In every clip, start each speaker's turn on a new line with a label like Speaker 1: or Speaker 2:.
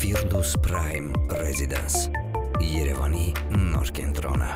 Speaker 1: Firdus Prime Residence Երևանի նոր կենտրոնը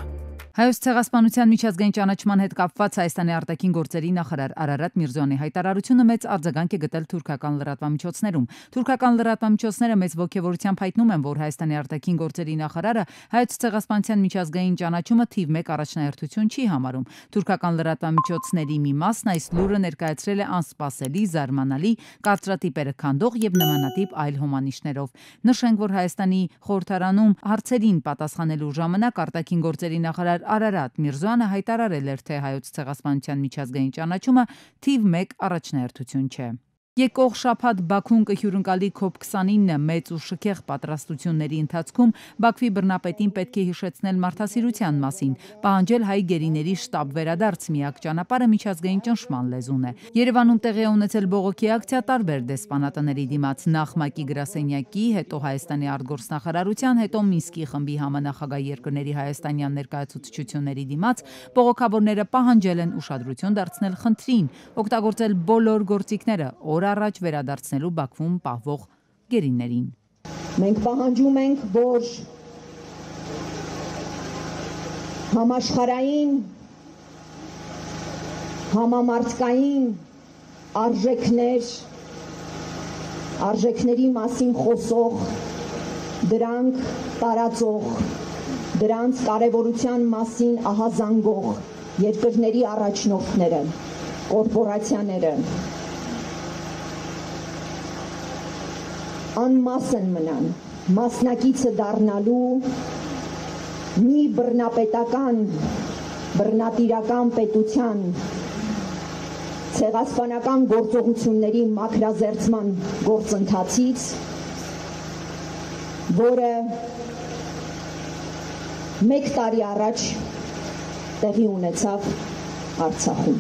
Speaker 2: Հայոց ցեղասպանության միջազգային ճանաչման հետ կապված Հայաստանի արտաքին գործերի նախարար Արարատ Միրզոյանի հայտարարությունը մեծ արձագանք է գտել թուրքական լրատվամիջոցներում։ Թուրքական լրատվամիջոցները մեծ ոգևորությամբ հայտնում են, որ Հայաստանի արտաքին գործերի նախարարը Հայոց ցեղասպանության միջազգային ճանաչումը թիվ 1 առաջնահերթություն չի համարում։ Թուրքական լրատվամիջոցների մի մասն այս լուրը ներկայացրել է անսպասելի, զարմանալի, կարծրատիպերը քանդող եւ նմանատիպ այլ հոմանիշներով։ Նշենք, որ Հայաստանի խորհրդարանում հարցերին պատասխանելու ժամանակ արտաքին գործերի նախարար Արարատ Միրզոյանը հայտարարել էր, թե Հայոց ցեղասպանության միջազգային ճանաչումը թիվ 1 առաջնահերթություն չէ։ Եկող շաբաթ Բաքուն կհյուրընկալի COP29 մեծ ու շքեղ պատրաստությունների ընթացքում Բաքվի բռնապետին պետք է հիշեցնել մարդասիրության մասին, պահանջել հայ գերիների շտաբ վերադարձ միակ ճանապարհը միջազգային ճնշման լեզուն է։ Երևանում տեղի է ունեցել բողոքի ակցիա տարբեր դեսպանատների դիմաց, նախ ՄԱԿ-ի գրասենյակի, հետո Հայաստանի արտգործնախարարության, հետո Մինսկի խմբի համանախագահ երկրների հայաստանյան ներկայացուցչությունների դիմաց բողոքավորները պահանջել են ուշադրություն դարձնել խնդրին, օգտագործել բոլոր գործիքները առաջ վերադարձնելու Բաքվում պահվող գերիներին։
Speaker 3: Մենք պահանջում ենք, որ համաշխարհային, համամարտկային արժեքների մասին խոսող, դրանք տարածող, դրանց կարևորության մասին ահազանգող երկրների առաջնորդները, կորպորացիաները անմասն մնան, մասնակիցը դառնալու մի բռնատիրական պետության ցեղասպանական գործողությունների մաքրազերծման գործընթացից, որը 1 տարի առաջ տեղի ունեցավ Արցախում։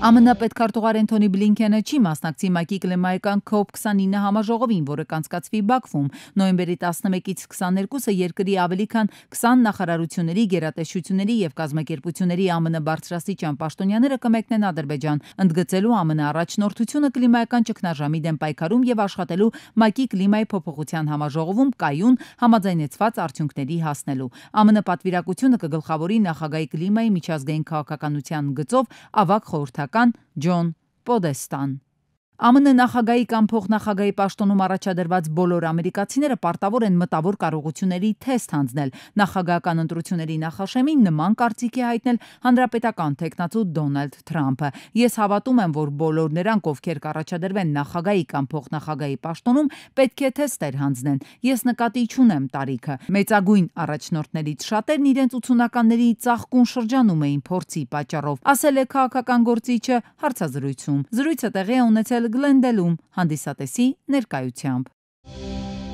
Speaker 2: ԱՄՆ պետքարտուղար Անթոնի Բլինքենը չի մասնակցի ՄԱԿ-ի կլիմայական COP29 համաժողովին, որը կանցկացվի Բաքվում նոյեմբերի 11-ից 22-ը երկրի ավելի քան 20 նախարարությունների, գերատեսչությունների եւ կազմակերպությունների ԱՄՆ բարձրաստիճան պաշտոնյաները կմեկնեն Ադրբեջան, ընդգծելու ԱՄՆ առաջնորդությունը կլիմայական ճգնաժամի դեմ պայքարում եւ աշխատելու ՄԱԿ-ի կլիմայի փոփոխության համաժողովում կայուն համաձայնեցված արդյունքների հասնելու։ ԱՄՆ պատվիրակությունը կգլխավորի նախագահի կլիմայի միջազգային քաղաքականության գծով ավագ խորհրդական Ջոն Պոդեստան։ ԱՄՆ նախագահի կամ փոխնախագահի պաշտոնում առաջադրված բոլոր ամերիկացիները պարտավոր են մտավոր կարողությունների թեստ հանձնել։ Նախագահական ընտրությունների նախաշեմին նման կարծիք է հայտնել հանրապետական թեկնածու Դոնալդ Թրամփը։ Ես հավատում եմ, որ բոլոր նրանք, ովքեր կառաջադրվեն նախագահի կամ փոխնախագահի պաշտոնում, պետք է թեստեր հանձնեն։ Ես նկատի չունեմ տարիքը։ Մեծագույն առաջնորդներից շատերն իրենց ուսումնականների ծաղկուն շրջանում էին փորձի պատճառով, ասել է քաղաքական գործիչը հարցազրույցում։ Զրույցը տեղի է ունեցել Գլենդելում հանդիսատեսի ներկայությամբ։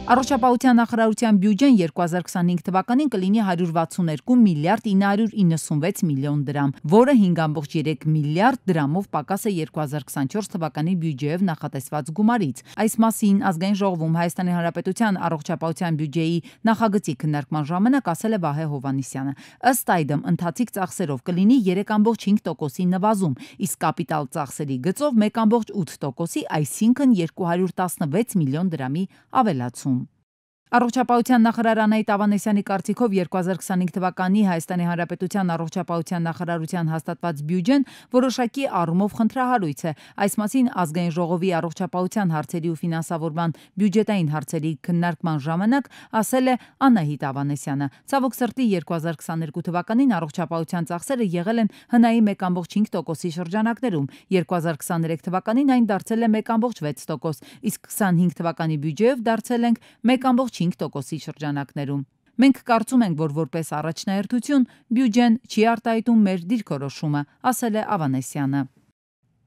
Speaker 2: Առողջապահության նախարարության բյուջեն 2025 թվականին կլինի 162 միլիարդ 996 միլիոն դրամ, որը 5.3 միլիարդ դրամով պակաս է 2024 թվականի բյուջեով նախատեսված գումարից։ Այս մասին ազգային ժողովում Հայաստանի Հանրապետության առողջապահության բյուջեի նախագծի քննարկման ժամանակ ասել է Վահե Հովհաննիսյանը։ Ըստ այդմ ընթացիկ ծախսերով կլինի 3.5%-ի նվազում, իսկ կապիտալ ծախսերի գծով 1.8%-ի, այսինքն 216 միլիոն դրամի ավելացում։ Առողջապահության նախարար Անահիտ Ավանեսյանի կարծիքով 2025 թվականի Հայաստանի Հանրապետության առողջապահության նախարարության հաստատված բյուջեն որոշակի առումով խնդրահարույց է։ Այս մասին ազգային ժողովի առողջապահության հարցերի ու ֆինանսավորման բյուջետային հարցերի քննարկման ժամանակ ասել է Անահիտ Ավանեսյանը։ Ցավոք սրտի 2022 թվականին առողջապահության ծախսերը եղել են հնայի 1.5%-ի շրջանակներում, 2023 թվականին այն դարձել է 1.6%, իսկ 25 թվականի բյուջեով դարձել ենք 1.5%-ի շրջանակներում։ Մենք կարծում ենք, որ որպես առաջնահերթություն բյուջեն չի արտահայտում մեր դիրքորոշումը, ասել է Ավանեսյանը։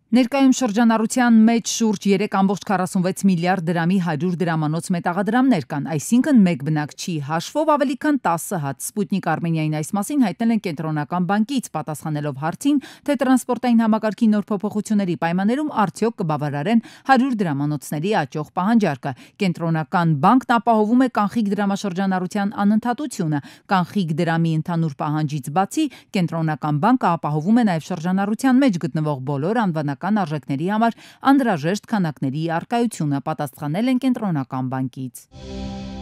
Speaker 2: Ներկայում շրջանառության մեջ շուրջ 3.46 միլիարդ դրամի 100 դրամանոց մետաղադրամներ կան, այսինքն մեկ բնակչի հաշվով ավելի քան 10 հատ։ Սպուտնիկ Արմենիային այս մասին հայտնել են Կենտրոնական բանկից, պատասխանելով հարցին, թե տրանսպորտային համակարգի նոր փոփոխությունների պայմաններում արդյոք կբավարարեն 100 դրամանոցների աճող պահանջարկը։ Կենտրոնական բանկն ապահովում է կանխիկ դրամաշրջանառության անընդհատությունը։ Կանխիկ դրամի ընդհանուր պահանջից բացի, Կենտրոնական բանկը ապահովում է նաև շրջանառության մեջ գտնվող բոլոր անվանական կենտրոնական արժեքների համար անհրաժեշտ քանակների առկայությունը, պատասխանել են կենտրոնական բանկից։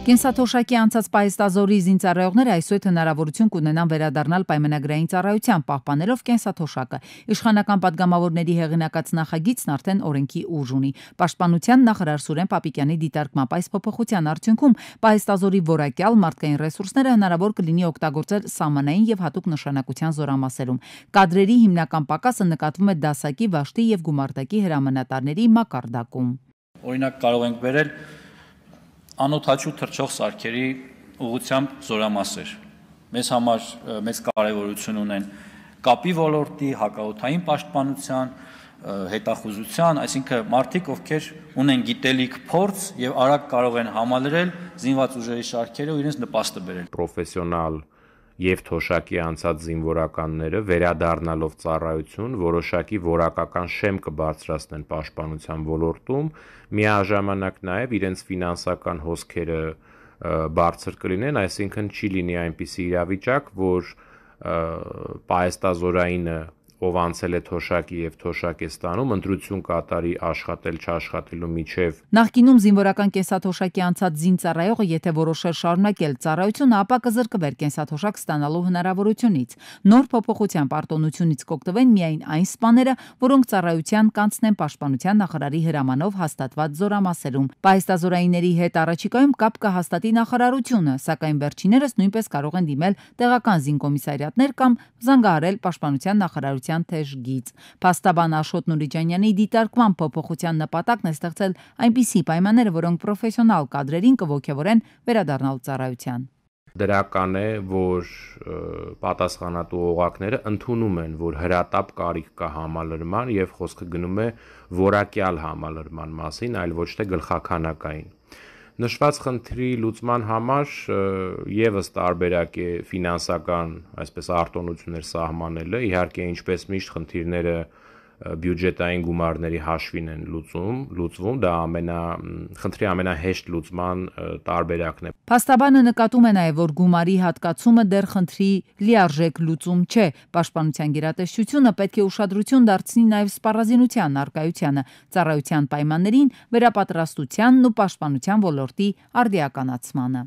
Speaker 2: Կենսաթոշակի անցած պահեստազորի զինծառայողները այսօր հնարավորություն կունենան վերադառնալ պայմանագրային ծառայության, պահպանելով կենսաթոշակը։ Իշխանական падգամավորների հեղինակած նախագիծն արդեն օրենքի ուժ ունի։ Պաշտպանության նախարար Սուրեն Պապիկյանի դիտարկմամբ այս փոփոխության արդյունքում պահեստազորի որակյալ մարդկային ռեսուրսները հնարավոր կլինի օգտագործել սահմանային եւ հատուկ նշանակության զորամասերում։ Կադրերի հիմնական պակասը նկատվում է դասակի, վաշտի եւ գումարտակի հրամանատարների մակարդակում։
Speaker 4: Օրինակ կարող ենք վերել անօդաչու թռչող սարքերի ուղղությամբ զորամասեր։ Մեզ համար մեծ կարևորություն ունեն կապի ոլորտի, հակաօդային պաշտպանության, հետախուզության, այսինքն մարդիկ, ովքեր ունեն գիտելիք, փորձ եւ արագ կարող են համալրել զինված ուժերի շարքերը ու իրենց նպաստը բերել։
Speaker 5: Պրոֆեսիոնալ եւ թոշակի անցած զինվորականները վերադառնալով ծառայություն որոշակի որակական շեմ կբարձրացնեն պաշտպանության ոլորտում, միաժամանակ նաեւ իրենց ֆինանսական հոսքերը բարձր կլինեն, այսինքն չի լինի այնպիսի իրավիճակ, որ պահեստազորայինը ով անցել է թոշակի եւ թոշակ է ստանում, ընտրություն կատարի աշխատել չաշխատելու միջև։
Speaker 2: Նախկինում զինվորական կենսաթոշակի անցած զինծառայողը, եթե որոշեր շարունակել ծառայությունը, ապա կզրկվեր կենսաթոշակ ստանալու հնարավորությունից։ Նոր փոփոխությամբ արտոնությունից կօգտվեն միայն այն սպաները, որոնք ծառայության կանցնեն պաշտպանության նախարարի հրամանով հաստատված զորամասերում։ Պահեստազորայինների հետ առաջիկայում կապ կհաստատի նախարարությունը, սակայն վերջիններս նույնպես կարող են դիմել տեղական զինկոմիսարիատներ կամ զանգահարել պաշտպանության նախարարության թեժ գիծ։ Փաստաբան Աշոտ Նուրիջանյանի դիտարկման փոփոխության նպատակն է ստեղծել այնպիսի պայմաններ, որոնք պրոֆեսիոնալ կադրերին կողոքեվորեն վերադառնալ ծառայության։
Speaker 5: Դրական է, որ պատասխանատու օղակները ընդունում են, որ հրատապ կարիք կա համալրման եւ խոսքը գնում է որակյալ համալրման մասին, այլ ոչ թե գլխաքանակային։ Նշված խնդրի լուծման համար եւս տարբերակ է ֆինանսական, այսպես արտոնություններ սահմանելը, իհարկե ինչպես միշտ խնդիրները բյուջետային գումարների հաշվին են լուծվում, դա խնդրի ամենահեշտ լուծման տարբերակն է։
Speaker 2: Փաստաբանը նկատում է նաև, որ գումարի հատկացումը դեռ խնդրի լիարժեք լուծում չէ։ Պաշտպանության գերատեսչությունը պետք է ուշադրություն դարձնի նաև սպառազինության առկայությանը, ծառայության պայմաններին, վերապատրաստությանն ու պաշտպանության ոլորտի արդիականացմանը։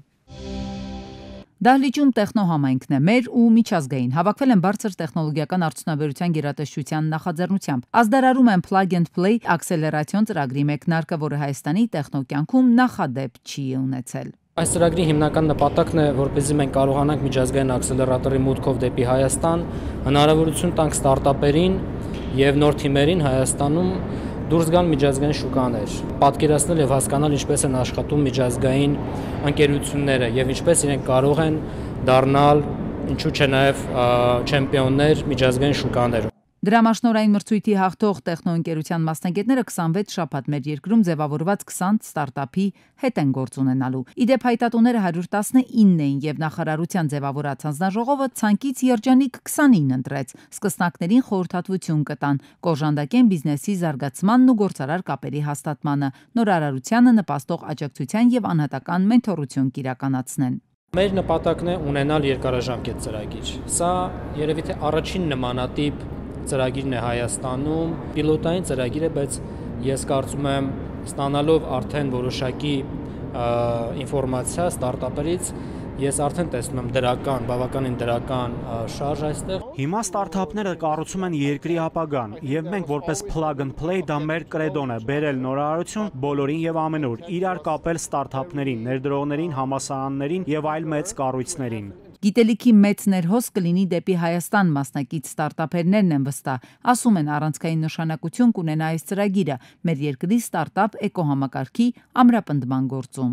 Speaker 2: Դահլիճում տեխնոհամայնքն է մեր ու միջազգային հավաքվել են բարձր տեխնոլոգիական արդյունաբերության գերատեսչության նախաձեռնությամբ։ Ազդարարում են Plug and Play ակսելերացիոն ծրագրի մեկնարկը, որը Հայաստանի տեխնոկյանքում նախադեպ չի ունեցել։
Speaker 6: Այս ծրագրի հիմնական նպատակն է, որպեսզի մենք կարողանանք միջազգային ակսելերատորի մուտքով դեպի Հայաստան հնարավորություն տանք ստարտափերին եւ նոր թիմերին Հայաստանում դուրս գան միջազգային շուկաներ, պատկերացնել եւ հասկանալ ինչպես են աշխատում միջազգային ընկերությունները եւ ինչպես իրենք կարող են դառնալ, ինչու՞ չէ նաեւ չեմպիոններ միջազգային շուկաներում։
Speaker 2: Դրամաշնորհային մրցույթի հաղթող տեխնոընկերության մասնագետները 26 շաբաթ մեր երկրում ձևավորված 20 ստարտափի հետ են գործ ունենալու։ Իդեպ հայտատուները 119 էին եւ նախարարության ձևավորած հանձնաժողովը ցանկից երջանիկ 29 ընտրեց։ Սկսնակներին խորհրդատվություն կտան, կօժանդակեն բիզնեսի զարգացմանն ու գործարար կապերի հաստատմանը, նորարարությանը նպաստող աջակցության եւ անհատական մենթորություն կիրականացնեն։
Speaker 6: Մեր նպատակն է ունենալ երկարաժամկետ ծրագիր։ Սա երևի թե առաջին նմանատիպ ծրագիրն է Հայաստանում, պիլոտային ծրագիր է, բայց ես կարծում եմ ստանալով արդեն որոշակի ինֆորմացիա ստարտափերից, ես արդեն տեսնում եմ բավականին դրական շարժ այստեղ։
Speaker 7: Հիմա ստարտափները կառուցում են երկրի ապագան, եւ մենք որպես Plug and Play դա մեր կրեդոն է, բերել նորարարություն բոլորին եւ ամենուր, իրար կապել ստարտափներին, ներդրողներին, համասարաններին եւ այլ մեծ կառույցներին։
Speaker 2: Գիտելիքի մեծ ներհոս կլինի դեպի Հայաստան մասնակից ստարտափերներն են վստահ, ասում են առանցքային նշանակություն կունենա այս ծրագիրը մեր երկրի ստարտափ էկոհամակարգի ամրապնդման գործում։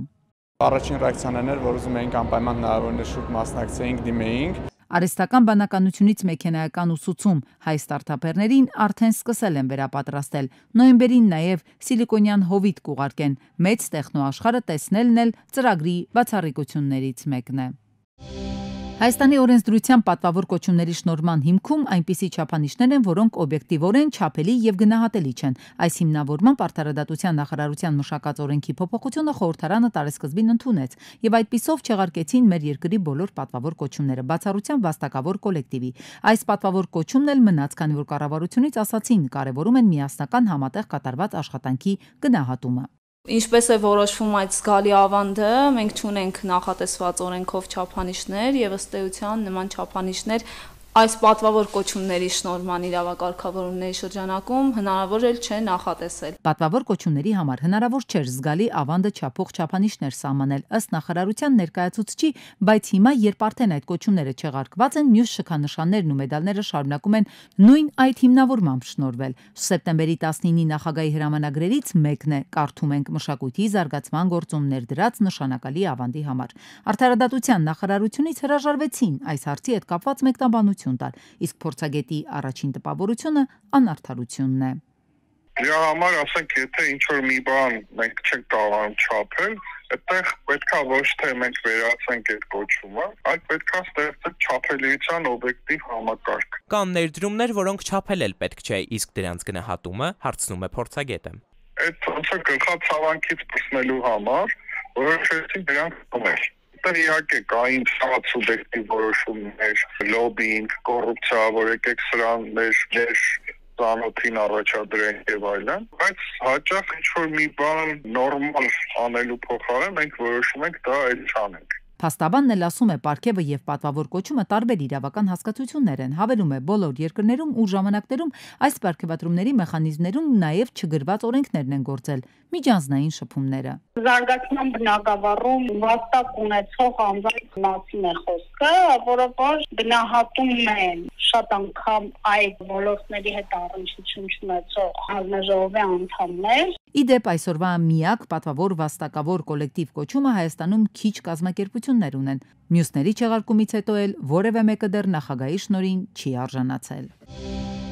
Speaker 8: Առաջին ռեակցիան էր, որ ուզում էինք անպայման հնարավորինս շուտ մասնակցեինք, դիմեինք։
Speaker 2: Արհեստական բանականությունից մեքենայական ուսուցում հայ ստարտափերներին արդեն սկսել են վերապատրաստել։ Նոյեմբերին նաև սիլիկոնյան հովիտ կուղարկեն։ Մեծ տեխնոաշխարհը տեսնելն էլ ծրագրի բացառիկություններից մեկն է։ Հայաստանի օրենսդրության պատվավոր կոչումների շնորհման հիմքում այնպիսի չափանիշներ են, որոնք օբյեկտիվորեն չափելի եւ գնահատելի չեն։ Այս հիմնավորմամբ Արդարադատության նախարարության մշակած օրենքի փոփոխությունը խորհրդարանը տարեսկզբին ընդունեց եւ այդպիսով չեղարկեցին մեր երկրի բոլոր պատվավոր կոչումները, բացառությամբ վաստակավոր կոլեկտիվի։ Այս պատվավոր կոչումն էլ մնաց, քանի որ կառավարությունից ասացին, կարևորում են միասնական համատեղ կատարված աշխատանքի գնահատումը։
Speaker 9: Ինչպես է որոշվում այդ զգալի ավանդը, մենք չունենք նախատեսված օրենքով չափանիշներ եւ ըստ էության նման չափանիշներ այս պատվավոր կոչումների շնորհման իրավակարգավորումների շրջանակում հնարավոր էլ չէ նախատեսել։
Speaker 2: Պատվավոր կոչումների համար հնարավոր չէր զգալի ավանդը չափող չափանիշներ սահմանել ըստ նախարարության ներկայացուցչի, բայց հիմա երբ արդեն այդ կոչումները չեղարկված են, մյուս շքանշաններն ու մեդալները շարունակում են նույն այդ հիմնավորմամբ շնորհվել։ Սեպտեմբերի 19-ի նախագահի հրամանագրերից մեկն է, կարդում ենք, մշակույթի զարգացման գործումներ դրած նշանակալի ավանդի համար։ Արդարադատության նախարարությունից հրաժարվեցին այս հարցի հետ կապված մեկնաբանություն տալ, իսկ փորձագետի առաջին տպավորությունը անարդարությունն է։
Speaker 10: Դրա համար ասենք, եթե ինչ-որ մի բան մենք չենք կարողանում չափել, այդտեղ պետքա ոչ թե մենք վերացենք այդ կոչումը, այլ պետքա ստեղծել չափելիության օբյեկտիվ համակարգ։
Speaker 11: Կան ներդրումներ, որոնք չափել էլ պետք չէ, իսկ դրանց գնահատումը հարցնում է փորձագետը։
Speaker 10: Այդ ոնց է գլխացավանքից պրծնելու համար որոշեցին դրանք կոմել։ Իհարկե կային շատ սուբյեկտիվ որոշումներ, լոբինգ, կոռուպցիա, որ եկեք սրան մեր ծանոթին առաջադրենք եւ այլն, բայց հաճախ ինչ-որ մի բան նորմալ անելու փոխարեն մենք որոշում ենք դա էլ չանենք։
Speaker 2: Փաստաբանն էլ ասում է, պարգևը եւ պատվավոր կոչումը տարբեր իրավական հասկացություններ են, հավելում է բոլոր երկրներում ու ժամանակներում այս պարգևատրումների մեխանիզմներում նաեւ չգրված օրենքներն են գործել, միջանձնային շփումները։
Speaker 12: Զարգացման բնագավառում վաստակ ունեցող անձանց մասին է խոսքը, որը որ գնահատում են շատ անգամ այդ ոլորտների հետ առնչություն չունեցող հանձնաժողովի անդամներ։
Speaker 2: Իդեպ այսօրվա միակ պատվավոր վաստակավոր կոլեկտիվ կոչումը Հայաստանում քիչ կազմակերպություններ ունեն։ Մյուսների չեղարկումից հետո էլ որևէ մեկը դեռ նախագահի շնորհին չի արժանացել։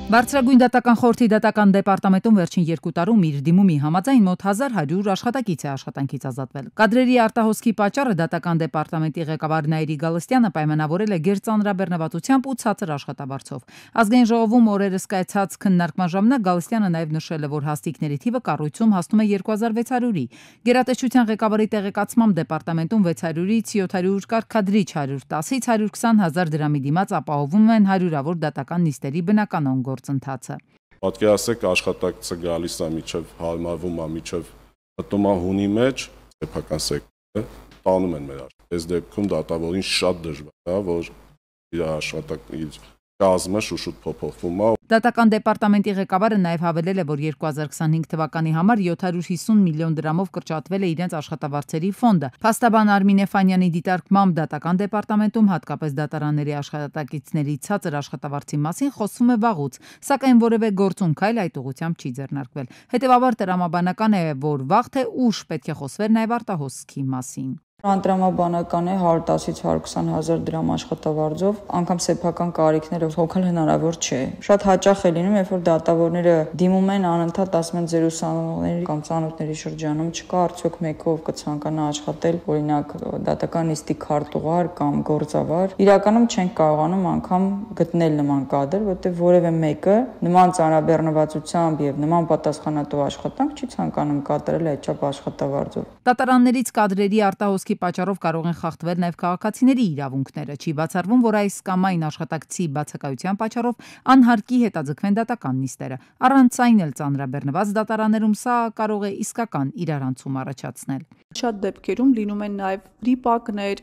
Speaker 2: Բարձրագույն դատական խորհրդի դատական դեպարտամենտում վերջին 2 տարում իր դիմումի համաձայն մոտ 1100 աշխատակից է աշխատանքից ազատվել։ Կադրերի արտահոսքի պատճառը դատական դեպարտամենտի ղեկավար Նաիրի Գալստյանը պայմանավորել է գերծանրաբեռնվածությամբ ու ցածր աշխատավարձով։ Ազգային ժողովում օրերս կայացած քննարկման ժամանակ Գալստյանը նաև նշել է, որ հաստիկների թիվը կառույցում հասնում է 2600-ի։ Գերատեսչության ղեկավարի տեղեկացմամբ դեպարտամենտում 600-ից 700 կարգադրիչ 110-ից 120 հազար դրամի դիմաց ապահովում են հարյուրավոր դատական նիստերի բնականon գործընթացը։
Speaker 13: Պատկերացրեք աշխատակցը գալիս է միջև հարմարվում է միջև մտնում է հունի մեջ, սեփական սեկտորը տանում են մեր աշխատանքը։ Այս դեպքում դատավորին շատ դժվար է, որ իր աշխատանքի կազմը շուշուտ փոփոխվում է։
Speaker 2: Դատական դեպարտամենտի ղեկավարը նաև հավելել է, որ 2025 թվականի համար 750 միլիոն դրամով կրճատվել է իրենց աշխատավարձերի ֆոնդը։ Փաստաբան Արմինե Ֆանյանի դիտարկմամբ դատական դեպարտամենտում հատկապես դատարանների աշխատակիցների ցածր աշխատավարձի մասին խոսվում է վաղուց, սակայն որևէ գործուն քայլ այդ ուղղությամբ չի ձեռնարկվել։ Հետևաբար տրամաբանական է, որ վաղ թե ուշ պետք է խոսվեր նաև արտահոսքի մասին։
Speaker 14: Անդրամաբանական է 110-ից 120 հազար դրամ աշխատավարձով, անգամ սեփական կարիքները հոգալ հնարավոր չէ։ Շատ հաճախ է լինում, երբ որ դատավորները դիմում են անընդհատ ասում են ձեր ուսանողների կամ ծանոթների շրջանում չկա արդյոք մեկով կցանկանա աշխատել, օրինակ դատական նիստի քարտուղար կամ գործավար։ Իրականում չենք կարողանում անգամ գտնել նման կադր, որտեղ որևէ մեկը նման ծանրաբեռնվածությամբ եւ նման պատասխանատու աշխատանք չի ցանկանում կատարել այդչափ աշխատավարձով։
Speaker 2: Դատարաններից կադրերի արտահոսքի պատճառով կարող են խախտվել նաև քաղաքացիների իրավունքները։ Չի բացառվում, որ այս կամ այն աշխատակցի բացակայության պատճառով անհարկի հետաձգվեն դատական նիստերը։ Առանց այն էլ ծանրաբեռնված դատարաններում սա կարող է իսկական իրարանցում առաջացնել։
Speaker 15: Շատ դեպքերում լինում են նաև վրիպակներ,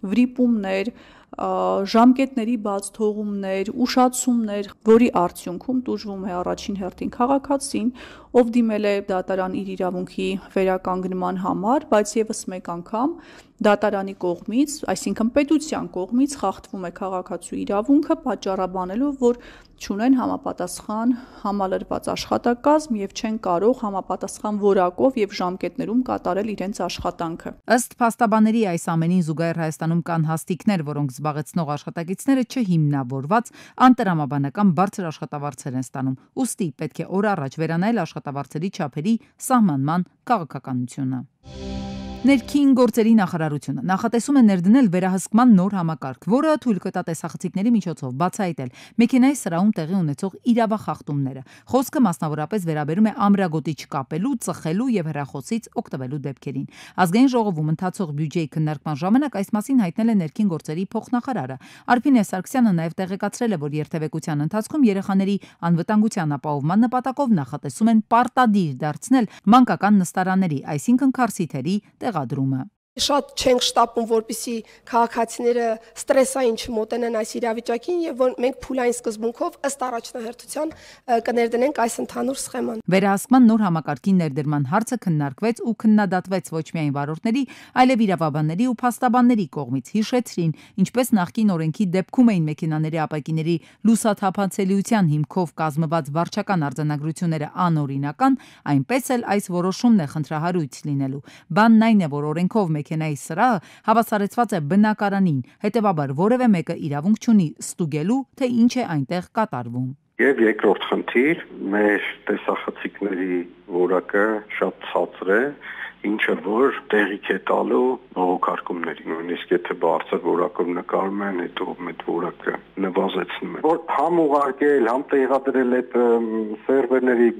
Speaker 15: վրիպումներ, ժամկետների բաց թողումներ, ուշացումներ, որի արդյունքում տուժվում է առաջին հերթին քաղաքացին, ով դիմել է դատարան իր իրավունքի վերականգնման համար, բայց եւս մեկ անգամ դատարանի կողմից, այսինքն պետության կողմից խախտվում է քաղաքացու իրավունքը, պատճառաբանելով, որ չունեն համապատասխան համալրված աշխատակազմ եւ չեն կարող համապատասխան որակով եւ ժամկետներում կատարել իրենց աշխատանքը։
Speaker 2: Ըստ փաստաբանների այս ամենին զուգահեռ Հայաստանում կան հաստիկներ, որոնք զբաղեցնող աշխատակիցները չհիմնավորված անտրամաբանական բարձր աշխատավարձեր են ստանում։ Ուստի պետք է օր առաջ վերանայել աշխատավարձերի չափերի սահմանման քաղաքականությունը։ Ներքին գործերի նախարարությունը նախատեսում է ներդնել վերահսկման նոր համակարգ, որը թույլ կտա տեսախցիկների միջոցով բացահայտել մեքենայի սրահում տեղի ունեցող իրավախախտումները։ Խոսքը մասնավորապես վերաբերում է ամրագոտի չկապելու, ծխելու եւ հեռախոսից օգտվելու դեպքերին։ Ազգային ժողովում ընթացող բյուջեի քննարկման ժամանակ այս մասին հայտնել է ներքին գործերի փոխնախարարը։ Արփինե Սարգսյանը նաեւ տեղեկացրել է, որ երթևեկության ընթացքում երեխաների անվտանգության ապահովման նպատակով նախատեսում են պարտադիր դարձնել մանկական նստարանների, այսինքն քարսիթերի տեղադրումը։
Speaker 16: Շատ չենք շտապում, որպեսզի քաղաքացիները ստրեսային չմոտենան այս իրավիճակին եւ որ մենք փուլային սկզբունքով ըստ առաջնահերթության կներդնենք այս ընդհանուր սխեման։
Speaker 2: Վերահսկման նոր համակարգի ներդրման հարցը քննարկվեց ու քննադատվեց ոչ միայն վարորդների, այլև իրավաբանների ու փաստաբանների կողմից։ Հիշեցրին, ինչպես նախկին օրենքի դեպքում էին մեքենաների ապակիների լուսաթափանցելիության հիմքով կազմված վարչական արձանագրությունները անօրինական, այնպես էլ այս որոշումն է խնդրահարույց լինելու։ Բանն այն է, որ օրենքով մեքենայի սրահը հավասարեցված է բնակարանին, հետևաբար որևէ մեկը իրավունք չունի ստուգելու, թե ինչ է այնտեղ կատարվում։
Speaker 17: Եվ երկրորդ խնդիր, մեր տեսախցիկների որակը շատ ցածր է, ինչը որ տեղիք է տալու բողոքարկումների, նույնիսկ եթե բարձր որակով նկարում են, հետո այդ որակը նվազեցնում է։ Որ համ ուղարկել, համ տեղադրել այդ սերվերների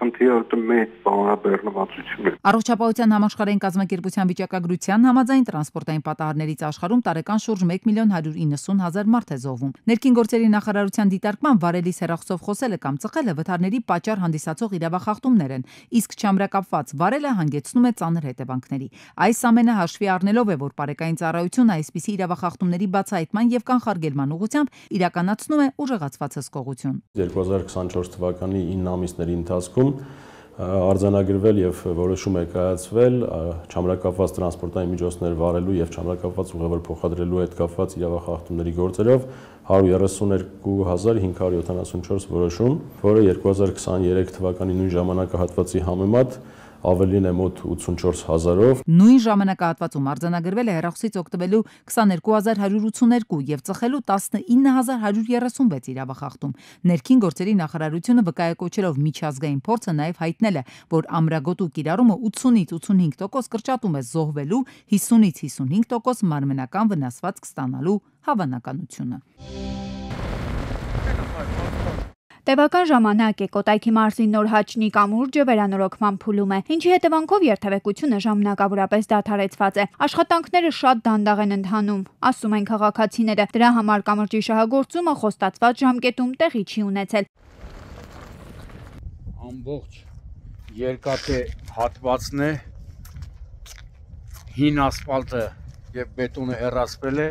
Speaker 17: խնդիրը մեծ բանաբեռնվածություն է։
Speaker 2: Առողջապահության համաշխարհային կազմակերպության վիճակագրության համաձայն տրանսպորտային պատահարներից աշխարհում տարեկան շուրջ 1.190.000 մարդ է զոհվում։ Ներքին գործերի նախարարության դիտարկման վարելիս հեռախոսով խոսելը կամ ծխելը վթարների պատճառ հանդիսացող իրավախախտումներ են, իսկ չամրակապված վարելը հանգեցնում է ծանր հետևանքների։ Այս ամենը հաշվի առնելով է, որ Պարեկային ծառայությունը այսպիսի իրավախախտումների բացահայտման եւ կանխարգելման ուղղությամբ իրականացնում է ուժեղացված հսկողություն։
Speaker 18: 2024 թվականի 9 ամիսների ընթացքում արձանագրվել եւ որոշում է կայացվել չամրակապված տրանսպորտային միջոցներ վարելու եւ չամրակապված ուղևոր փոխադրելու հետ կապված իրավախախտումների գործերով 132.574 որոշում, որը 2023 թվականի նույն ժամանակահատվածի համեմատ ավելին է մոտ 84,000-ով։
Speaker 2: Նույն ժամանակահատվածում արձանագրվել է հեռախոսից օգտվելու 22,182 եւ ծխելու 19,136 իրավախախտում։ Ներքին գործերի նախարարությունը վկայակոչելով միջազգային փորձը նաեւ հայտնել է, որ ամրագոտու կիրառումը 80-ից 85% կրճատում է զոհվելու, 50-ից 55% մարմնական վնասվածք ստանալու հավանականությունը։
Speaker 19: Տևական ժամանակ է Կոտայքի մարզի Նոր Հաչնի կամուրջը վերանորոգման փուլում է, ինչի հետևանքով երթևեկությունը ժամանակավորապես դադարեցված է։ Աշխատանքները շատ դանդաղ են ընթանում, ասում են քաղաքացիները։ Դրա համար կամրջի շահագործումը խոստացված ժամկետում տեղի չի ունեցել։
Speaker 20: Ամբողջ երկաթե հատվածն է, հին ասֆալտը եւ բետոնը հեռացվել է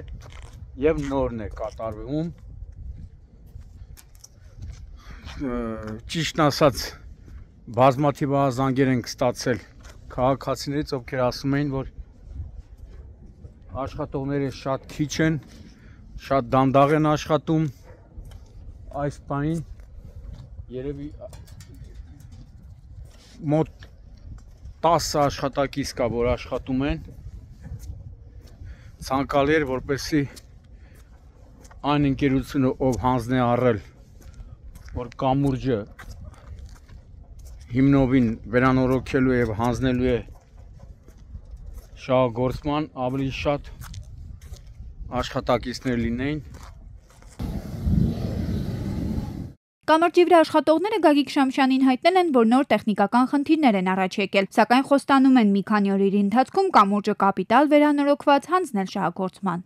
Speaker 20: եւ նորն է կատարվում։ Ճիշտն ասած, բազմաթիվ զանգեր ենք ստացել քաղաքացիներից, ովքեր ասում էին, որ աշխատողները շատ քիչ են, շատ դանդաղ են աշխատում, այս բանին երևի մոտ 10 աշխատակից կա, որ աշխատում են, ցանկալի էր, որպեսզի այն ընկերությունը, ով հանձն է առել, որ կամուրջը հիմնովին վերանորոգելու եւ հանձնելու է շահագործման, ավելի շատ աշխատակիցներ լինեին։
Speaker 19: Կամրջի վրա աշխատողները Գագիկ Շամշյանին հայտնել են, որ նոր տեխնիկական խնդիրներ են առաջ եկել, սակայն խոստանում են մի քանի օրերի ընթացքում կամուրջը կապիտալ վերանորոգված հանձնել շահագործման։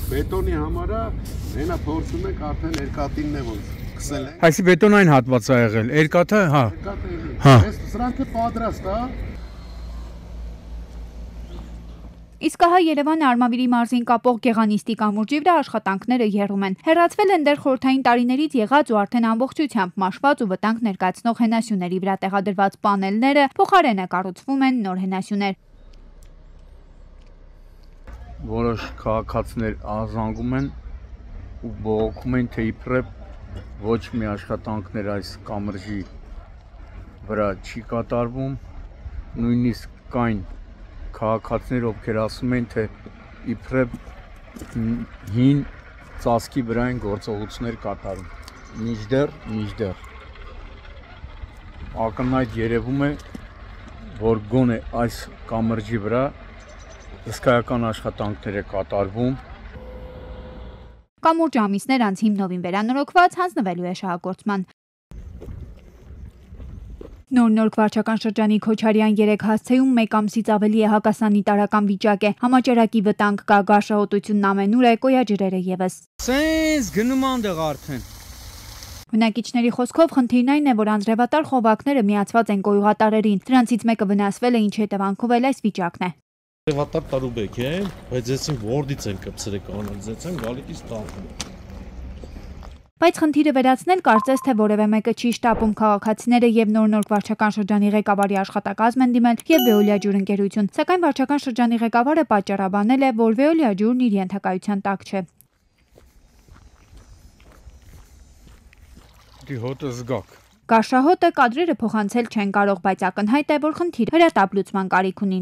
Speaker 13: Բետոնի համարը նենա փորձում եք արդեն երկաթինն է որ սկսել է։
Speaker 20: Այսի բետոնային հատված է եղել, երկաթը, հա։
Speaker 13: Հա։ Սրանք է պատրաստ, հա։
Speaker 19: Իսկ ահա Երևանը Արմավիրի մարզին կապող Գեղանիստի կամուրջի վրա աշխատանքները եռում են։ Հեռացվել են դեռ խորհրդային տարիներից եղած ու արդեն ամբողջությամբ մաշված ու վտանգ ներկայացնող հենասյուների վրա տեղադրված պանելները, փոխարենը կառուցվում են նոր հենասյուներ։
Speaker 20: Որոշ քաղաքացիներ ազանգում են ու բողոքում են, թե իբրև ոչ մի աշխատանքներ այս կամրջի վրա չի կատարվում, նույնիսկ կային քաղաքացիներ, ովքեր ասում են, թե իբրև հին ծածկի վրա են գործողություններ կատարում։ Մինչդեռ ակնհայտ երևում է, որ գոնե այս կամրջի վրա հսկայական աշխատանքներ է կատարվում։
Speaker 19: Կամուրջ ամիսներ անց հիմնովին վերանորոգված հանձնվելու է շահագործման։ Նոր վարչական շրջանի Քոչարյան 3 հասցեում 1 ամսից ավելի է հակասանիտարական վիճակ է, համաճարակի վտանգ կա, գարշահոտությունն ամենուր է, կոյաջրերը եւս։
Speaker 20: Սենց գնում անդեղ արդեն։
Speaker 19: Բնակիչների խոսքով խնդիրն այն է, որ անձրևատար խողովակները միացված են կոյուղատարերին, դրանցից մեկը վնասվել է, ինչի հետևանքով էլ այս վիճակն է։
Speaker 21: Անձրևատար տարուբեկ է, բայց այսին որդից են կպցրել կանոնիզացիան գալիքից տանվում։
Speaker 19: Բայց խնդիրը վերացնել կարծես թե որևէ մեկը չի շտապում, քաղաքացիները եւ նոր վարչական շրջանի ղեկավարի աշխատակազմ են դիմել եւ Veolia ջուր ընկերություն, սակայն վարչական շրջանի ղեկավարը պատճառաբանել է, որ Veolia ջուրն իր ենթակայության տակ չէ։
Speaker 20: Հոտը զգաք։
Speaker 19: Գարշահոտը կադրերը փոխանցել չեն կարող, բայց ակնհայտ է, որ խնդիրը հրատապ լուծման կարիք ունի։